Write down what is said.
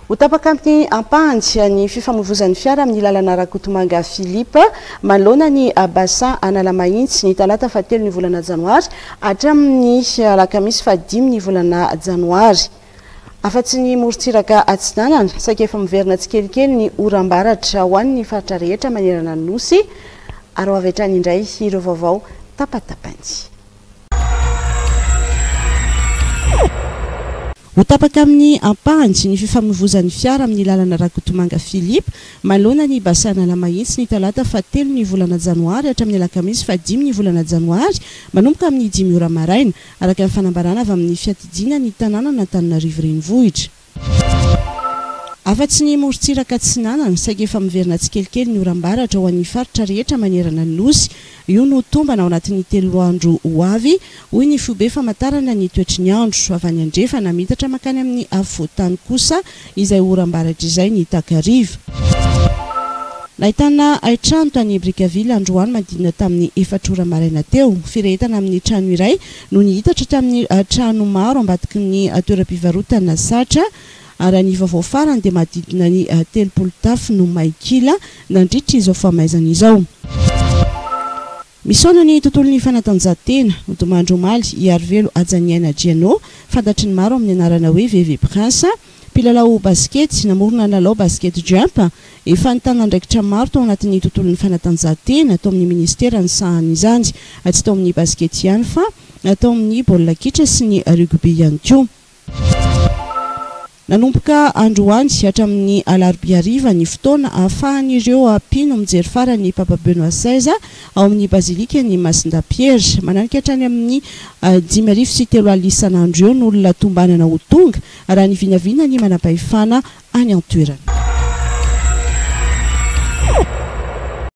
Ho tapaka amin'ny ampahany ny fifamoivozan'ny fiara amin'ny lalana Rakotomanga Philippe manoloana ny Bassin Analamahitsy ny talata fahatelo ny volana janoary hatramin'ny alakamisy fahadimy ny volana janoary. Afa-tsy ny morontsiraka atsinanana, saika efa miverina tsikelikely ny oram-baratra ho an'ny faritra rehetra manerana ny Nosy ary ho avy hatrany indray ireo vaovao tapatapany. Ho tapaka amin'ny ampahany ny fifamoivozan'ny fiara amin'ny lalana Rakotomanga Philippe manoloana ny Bassin Analamahitsy ny talata fahatelo ny volana janoary hatramin'ny alakamisy fahadimy ny volana janoary manomboka amin'ny dimy ora maraina, araka ny fanambarana avy amin'ny fiadidiana ny tanànan'Antananarivo Renivohitra. Afa-tsy ny morontsiraka atsinanana, saingy efa miverina tsikelikely ny oram-baratra ho an'ny faritra rehetra manerana ny Nosy. Io no tombana ao anatin'ny telo andro ho avy, hoy ny foibe famantarana ny toetry ny andro. Avy any andrefana, miitatra mankany amin'ny afovoan-tany kosa izay oram-baratra izay ny takariva. Nahitana haintrano tany Brickaville androany manodidina tamin'ny efatra ora maraina teo. Firehetana amin'ny trano iray no nihitatra tamin'ny trano maro ambadiky ny toeram-pivarotana Satra. Raha ny vaovao farany dia manodidina ny 30 tafo no may kila nandritra izao famaizana izao. Misaona ny tontolon'ny fanatanjahantena. Nodimandry omaly i Arivelo Hajaniaina Jeannot, fantatry ny maro amin'ny anarana hoe Veve Prince, mpilalao basikety, namorona ny lalao Basket Jump. Efa nitana andraikitra maro tao anatin'ny tontolon'ny fanatanjahantena, tao amin'ny minisitera nisahana izany. Tsy tao amin'ny basikety ihany fa tao amin'ny baolina kitra sy ny rugby ihany koa. Nanomboka androany hatramin'ny alarobia hariva ny fotoana ahafahan'ireo mpino mijery farany ny Papa Benoît seize ao amin'ny Bazilikan'i Masindahy Piera. Mananika hatrany amin'ny 3500 isan'andro eo ny olona tombanana ho tonga, raha ny vinavinan'ny manampahefana any an-toerana.